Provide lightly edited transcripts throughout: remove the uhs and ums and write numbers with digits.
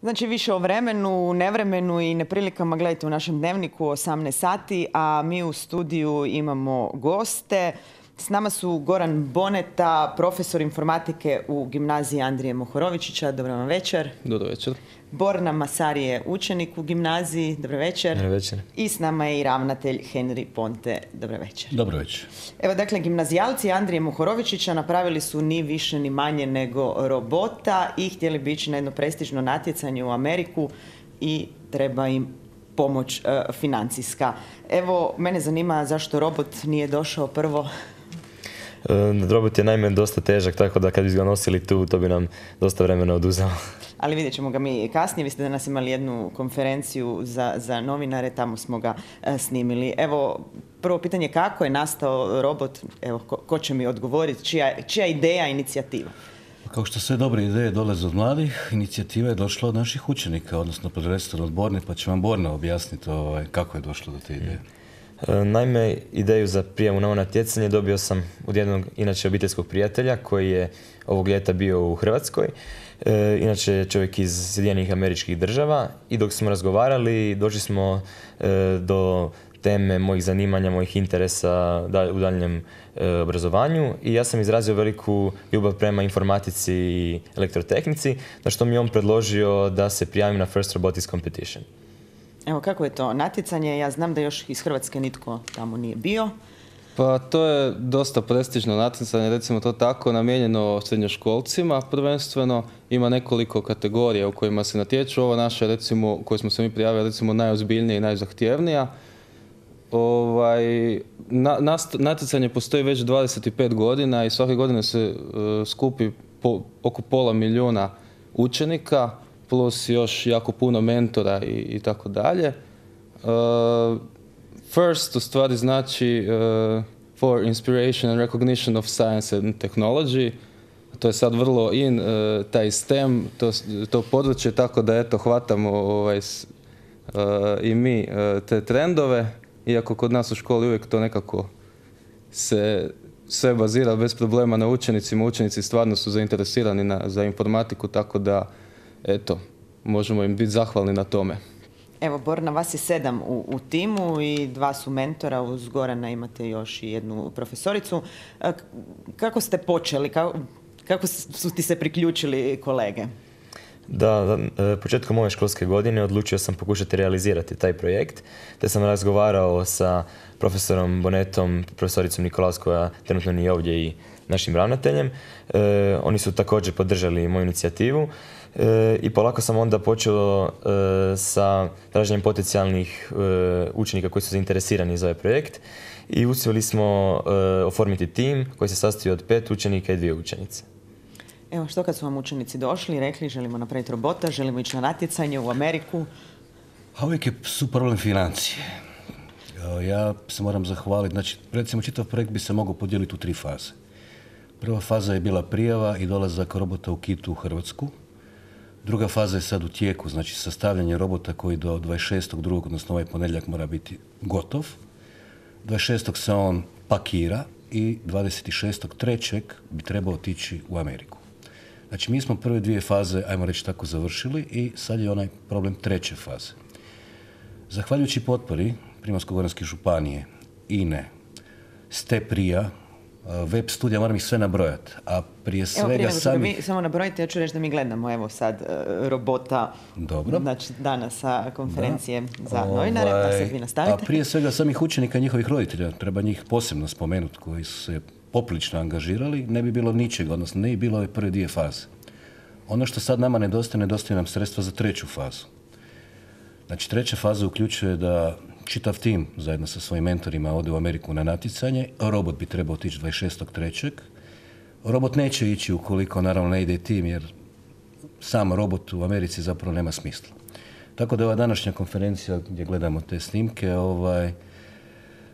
Znači više o vremenu, nevremenu i neprilikama gledajte u našem dnevniku 18 sati, a mi u studiju imamo goste. S nama su Goran Boneta, profesor informatike u gimnaziji Andrije Mohorovičića. Dobro vam večer. Dobro večer. Borna Masarije, učenik u gimnaziji. Dobro večer. Dobro večer. I s nama je i ravnatelj Henry Ponte. Dobro večer. Dobro večer. Evo, dakle, gimnazijalci Andrije Mohorovičića napravili su ni više ni manje nego robota i htjeli bi ići na jedno prestižno natjecanje u Ameriku i treba im pomoć financijska. Evo, mene zanima zašto robot nije došao prvo. Robot je naime dosta težak, tako da kad bi ga nosili tu, to bi nam dosta vremena oduzelo. Ali vidjet ćemo ga mi kasnije. Vi ste danas imali jednu konferenciju za novinare, tamo smo ga snimili. Evo, prvo pitanje, kako je nastao robot? Evo, ko će mi odgovoriti? Čija ideja, inicijativa? Kao što sve dobre ideje dolaze od mladih, inicijativa je došla od naših učenika, odnosno prvenstveno od Borne, pa će vam Borna objasniti kako je došlo do te ideje. Naime, ideju za prijamu na ovo natjecanje dobio sam od jednog inače obiteljskog prijatelja koji je ovog ljeta bio u Hrvatskoj. Inače je čovjek iz Sjedinjenih Američkih Država i dok smo razgovarali došli smo do teme mojih zanimanja, mojih interesa u daljnjem obrazovanju i ja sam izrazio veliku ljubav prema informatici i elektrotehnici, na što mi je on predložio da se prijavim na First Robotics Competition. Evo, kako je to natjecanje? Ja znam da još iz Hrvatske nitko tamo nije bio. Pa to je dosta prestižno natjecanje, recimo to tako, namijenjeno srednjoškolcima prvenstveno. Ima nekoliko kategorija u kojima se natječu. Ova naša, recimo, koju smo se mi prijavili, recimo najozbiljnija i najzahtjevnija. Natjecanje postoji već 25 godina i svake godine se skupi oko 500.000 učenika, plus još jako puno mentora i tako dalje. First u stvari znači for inspiration and recognition of science and technology. To je sad vrlo in, taj STEM, to područje, tako da eto hvatamo i mi te trendove, iako kod nas u školi uvijek to nekako se sve bazira bez problema na učenicima. Učenici stvarno su zainteresirani za informatiku, tako da eto, možemo im biti zahvalni na tome. Evo, Borna, vas je 7 u timu i 2 su mentora, uz Gorana imate još i jednu profesoricu. Kako ste počeli? Kako su ti se priključili kolege? Da, početkom ove školske godine odlučio sam pokušati realizirati taj projekt, te sam razgovarao sa profesorom Bonetom, profesoricom Nikolaus, koja trenutno nije ovdje, i našim ravnateljem. Oni su također podržali moju inicijativu i polako sam onda počeo sa traženjem potencijalnih učenika koji su zainteresirani za ovaj projekt i uspjeli smo oformiti tim koji se sastoji od 5 učenika i 2 učenice. Evo, što kad su vam učenici došli i rekli želimo napraviti robota, želimo ići na natjecanje u Ameriku? A uvijek su problem financije. Ja se moram zahvaliti. Znači, recimo, čitav projekt bi se mogao podijeliti u 3 faze. Prva faza je bila prijava i dolazak robota u kitu u Hrvatsku. Druga faza je sad u tijeku, znači sastavljanje robota koji do 26.2., odnosno ovaj ponedjeljak, mora biti gotov. 26. se on pakira i 26.3. bi trebao otići u Ameriku. Znači, mi smo prve 2 faze, ajmo reći tako, završili i sad je onaj problem 3. faze. Zahvaljujući potpori Primorsko-goranske županije, INE, STEPRIA, web studija, moram ih sve nabrojati, a prije svega sami... Samo nabrojite, ja ću reći da mi gledamo evo sad robota. Dobro. Znači danas sa konferencije za novinare, pa sad vi nastavite. A prije svega samih učenika i njihovih roditelja, treba njih posebno spomenuti, koji su se poprilično angažirali, ne bi bilo ničega, odnosno ne bi bilo ove prve 2 faze. Ono što sad nama nedostaje nam sredstva za 3. fazu. Znači, 3. faza uključuje da čitav tim zajedno sa svojim mentorima ode u Ameriku na natjecanje. Robot bi trebao otići 26.3. Robot neće ići ukoliko naravno ne ide tim, jer sam robot u Americi zapravo nema smisla. Tako da ova današnja konferencija gdje gledamo te snimke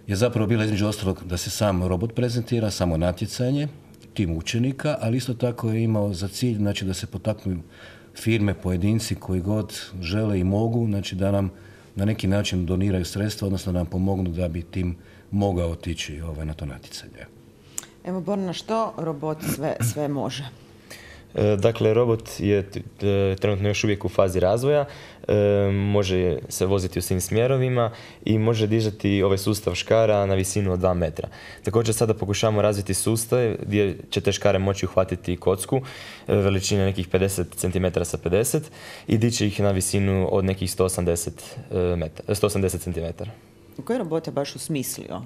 je zapravo bila između ostalog da se sam robot prezentira, samo natjecanje, tim učenika, ali isto tako je imao za cilj, znači, da se potaknu firme, pojedinci koji god žele i mogu, znači da nam na neki način doniraju sredstva, odnosno da nam pomognu da bi tim mogao otići na to natjecanje. Evo, Borna, što robot sve može? Dakle, robot je trenutno još uvijek u fazi razvoja, može se voziti u svim smjerovima i može dižati ovaj sustav škara na visinu od 2 metra. Također sada pokušavamo razviti sustav gdje će te škare moći uhvatiti kocku veličine nekih 50 cm sa 50 i dići ih na visinu od nekih 180 cm. Koji robot je baš usmislio?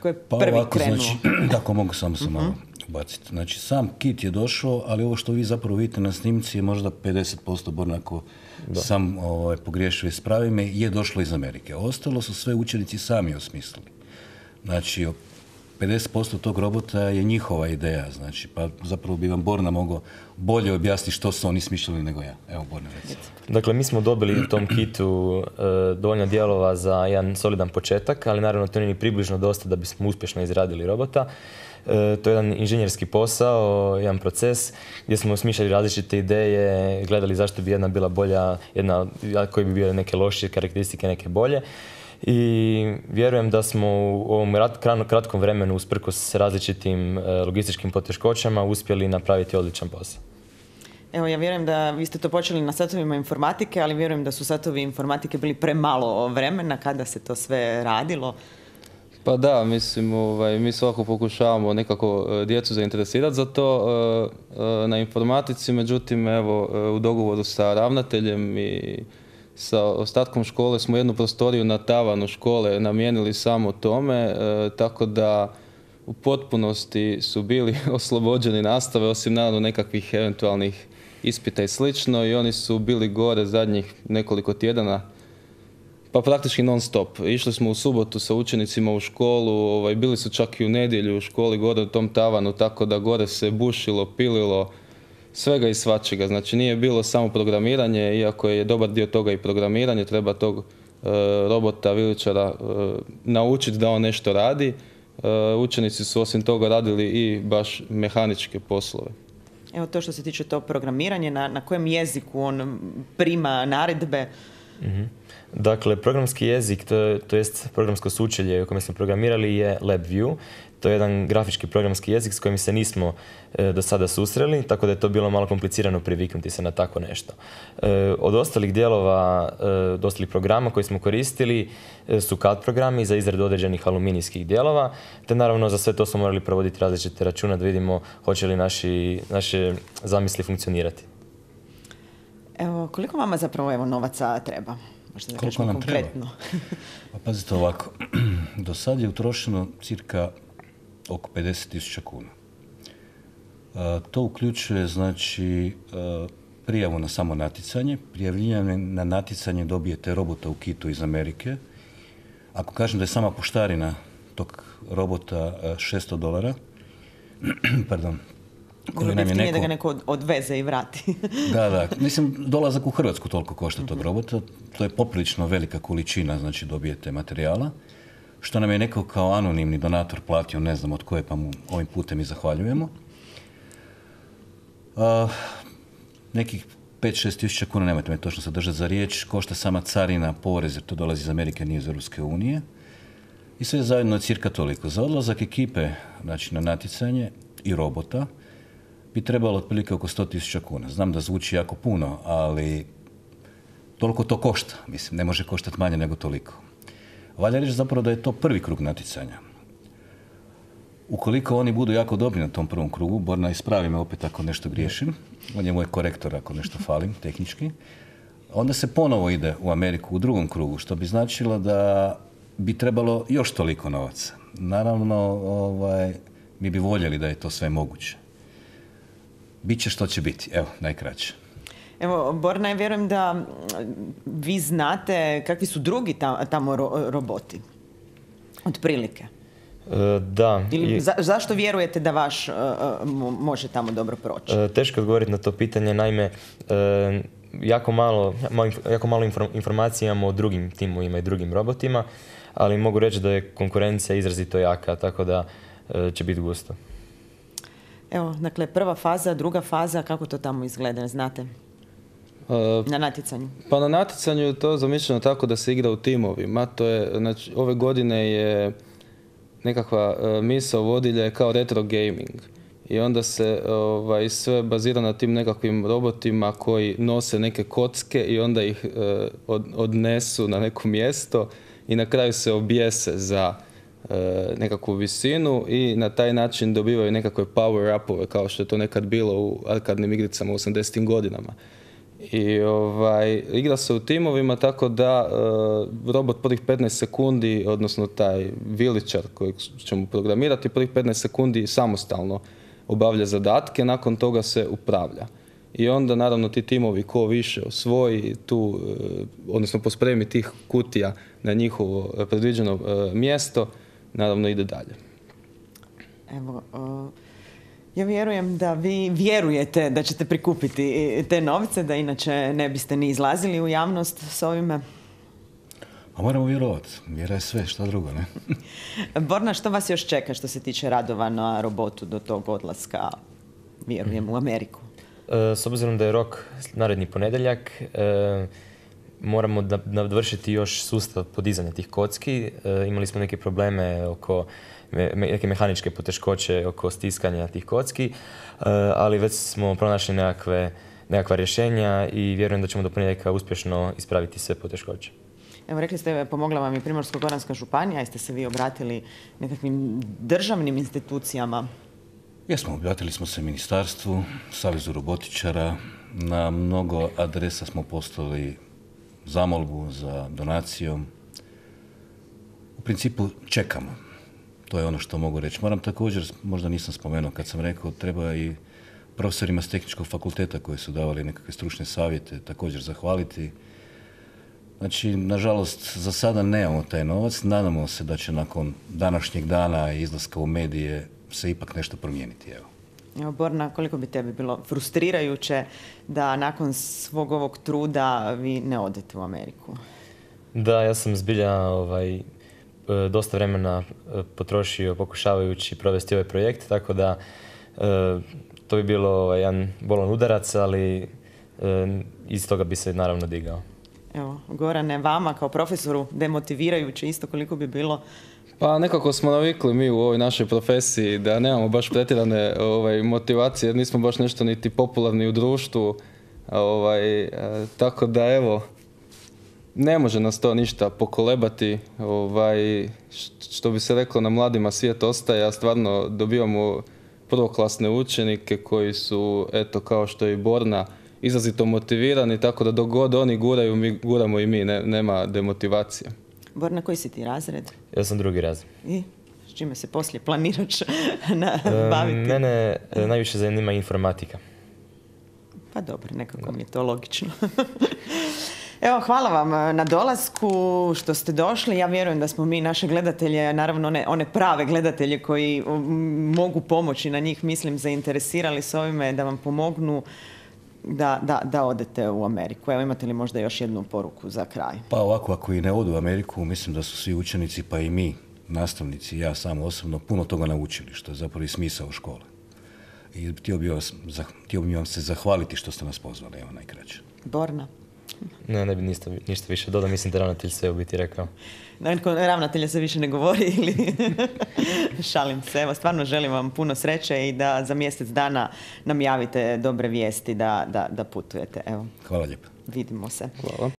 Koji je Pa prvi ovako, krenuo? znači, tako mogu samo se malo baciti. Znači, sam kit je došao, ali ovo što vi zapravo vidite na snimci je možda 50%, Bornako sam pogriješio, ispravi me, je došlo iz Amerike. Ostalo su sve učenici sami osmislili. Znači, 50% tog robota je njihova ideja, znači, pa zapravo bi vam Borna mogao bolje objasniti što su oni smišljali nego ja. Evo, Borna, recimo. Dakle, mi smo dobili u tom kitu dovoljno dijelova za jedan solidan početak, ali naravno to nije ni približno dosta da bismo uspješno izradili robota. To je jedan inženjerski posao, jedan proces gdje smo smišljali različite ideje, gledali zašto bi jedna bila bolja, jedna koji bi bile neke lošije karakteristike, neke bolje. I vjerujem da smo u ovom kratkom vremenu, usprkos različitim logističkim poteškoćama, uspjeli napraviti odličan posao. Evo, ja vjerujem da vi ste to počeli na satovima informatike, ali vjerujem da su satovi informatike bili premalo vremena kada se to sve radilo. Pa da, mislim, mi svako pokušavamo nekako djecu zainteresirati za to na informatici, međutim, evo, u dogovoru sa ravnateljem i sa ostatkom škole smo jednu prostoriju na tavanu škole namijenili samo tome, tako da u potpunosti su bili oslobođeni nastave, osim naravno nekakvih eventualnih ispita i slično, i oni su bili gore zadnjih nekoliko tjedana, pa praktički non stop. Išli smo u subotu sa učenicima u školu, bili su čak i u nedjelju u školi gore u tom tavanu, tako da gore se bušilo, pililo, svega i svačega. Znači nije bilo samo programiranje, iako je dobar dio toga i programiranje, treba tog robota, viličara naučiti da on nešto radi. Učenici su osim toga radili i baš mehaničke poslove. Evo, to što se tiče tog programiranja, na kojem jeziku on prima naredbe? Dakle, programski jezik, to jest programsko sučelje u kojem smo programirali je LabVIEW. To je jedan grafički programski jezik s kojim se nismo do sada susreli, tako da je to bilo malo komplicirano priviknuti se na tako nešto. Od ostalih dijelova, od ostalih programa koji smo koristili su CAD programi za izradu određenih aluminijskih dijelova, te naravno za sve to smo morali provoditi različite račune da vidimo hoće li naše zamisli funkcionirati. Evo, koliko vama zapravo novaca treba? Možda da Koliko nam konkretno. treba? Pa pazite ovako, do sad je utrošeno cirka oko 50.000 kuna. To uključuje, znači, prijavu na samo natjecanje. Prijavljivanje na natjecanje dobijete robota u kitu iz Amerike. Ako kažem da je sama poštarina tog robota $600, pardon, koji nam je neko... da ga neko odveze i vrati. Da. Mislim, dolazak u Hrvatsku toliko košta tog robota. To je poprilično velika količina, znači dobijete materijala. Što nam je neko kao anonimni donator platio, ne znam od koje, pa mu ovim putem i zahvaljujemo. Nekih 5-6 tisuća kuna, nemojte me točno se držati za riječ, košta sama carina, porez, jer to dolazi iz Amerike, nije iz Europske unije. I sve zajedno je cirka toliko. Za odlazak ekipe, znači na natjecanje i robota, bi trebalo otprilike oko 100.000 kuna. Znam da zvuči jako puno, ali toliko to košta. Mislim, ne može koštati manje nego toliko. Valja reći zapravo da je to prvi krug natjecanja. Ukoliko oni budu jako dobri na tom prvom krugu, Borna, ispravi me opet ako nešto griješim, on je moj korektor ako nešto falim tehnički, onda se ponovo ide u Ameriku u drugom krugu, što bi značilo da bi trebalo još toliko novaca. Naravno, mi bi voljeli da je to sve moguće. Biće što će biti, evo, najkraće. Evo, Borna, vjerujem da vi znate kakvi su drugi tamo roboti, otprilike. Da. Ili zašto vjerujete da vaš može tamo dobro proći? Teško odgovoriti na to pitanje, naime, jako malo informacija imamo o drugim timovima i drugim robotima, ali mogu reći da je konkurencija izrazito jaka, tako da će biti gusto. Evo, dakle, prva faza, druga faza, kako to tamo izgleda, znate? Na natjecanju? Pa na natjecanju je to zamišljeno tako da se igra u timovima. To je, znači, ove godine je nekakva misao vodilja je kao retro gaming. i onda se sve bazira na tim nekakvim robotima koji nose neke kocke i onda ih odnesu na neko mjesto i na kraju se objese za nekakvu visinu i na taj način dobivaju nekakve power-upove kao što je to nekad bilo u arkadnim igricama u 80. godinama. I igra se u timovima tako da robot prvih 15 sekundi, odnosno taj viličar kojeg ćemo programirati, prvih 15 sekundi samostalno obavlja zadatke, nakon toga se upravlja. I onda naravno ti timovi ko više osvoji tu, odnosno pospremi tih kutija na njihovo predviđeno mjesto, naravno ide dalje. Evo, ja vjerujem da vi vjerujete da ćete prikupiti te novce, da inače ne biste ni izlazili u javnost s ovime. A moramo vjerovati. Vjera je sve, šta drugo, ne? Borna, što vas još čeka što se tiče radova na robotu do tog odlaska, vjerujem, u Ameriku? S obzirom da je rok naredni ponedjeljak, moramo dovršiti još sustav podizanja tih kocki. Imali smo neke probleme oko neke mehaničke poteškoće oko stiskanja tih kocki, ali već smo pronašli nekakva rješenja i vjerujem da ćemo do ponedjeljka uspješno ispraviti sve poteškoće. Evo, rekli ste, pomogla vam i Primorsko-goranska županija, jeste se vi obratili nekakvim državnim institucijama? Jesmo, obratili smo se ministarstvu, Savezu robotičara, na mnogo adresa smo poslali zamolbu za donacijom. U principu čekamo. To je ono što mogu reći. Moram također, možda nisam spomenuo kad sam rekao, treba i profesorima s tehničkog fakulteta koji su davali nekakve stručne savjete također zahvaliti. Znači, nažalost, za sada nemamo taj novac. Nadamo se da će nakon današnjeg dana i izlaska u medije se ipak nešto promijeniti. Evo, Borna, koliko bi tebi bilo frustrirajuće da nakon svog ovog truda vi ne odete u Ameriku? Da, ja sam zbilja dosta vremena potrošio pokušavajući provesti ovaj projekt, tako da to bi bilo jedan bolan udarac, ali iz toga bi se naravno digao. Evo, Gorane, vama kao profesoru demotivirajuće isto koliko bi bilo? Pa nekako smo navikli mi u ovoj našoj profesiji da nemamo baš pretjerane motivacije, jer nismo baš nešto niti popularni u društvu, tako da evo, ne može nas to ništa pokolebati, što bi se reklo, na mladima svijet ostaje, a stvarno dobivamo prvoklasne učenike koji su, eto, kao što je i Borna, izrazito motivirani, tako da dok god oni guraju, mi guramo i mi, nema demotivacije. Borna, koji si ti razred? Ja sam drugi razred. I s čime se poslije planiraš baviti? Mene najviše zanima informatika. Pa dobro, nekako mi je to logično. Evo, hvala vam na dolasku, što ste došli. Ja vjerujem da smo mi naše gledatelje, naravno one prave gledatelje koji mogu pomoći, na njih mislim, zainteresirali s ovime da vam pomognu da odete u Ameriku. Evo, imate li možda još jednu poruku za kraj? Pa ovako, ako i ne odu u Ameriku, mislim da su svi učenici, pa i mi, nastavnici, ja sam osobno, puno toga naučili, što je zapravo i smisao škole. I htio bi vam se zahvaliti što ste nas pozvali, evo najkraće. Borna? Ne bi ništa više dodao, mislim da ravnatelj sve u biti rekao. Ravnatelja se više ne govori ili... Šalim se. Evo, stvarno želim vam puno sreće i da za mjesec dana nam javite dobre vijesti da putujete. Evo. Hvala lijepo. Vidimo se. Hvala.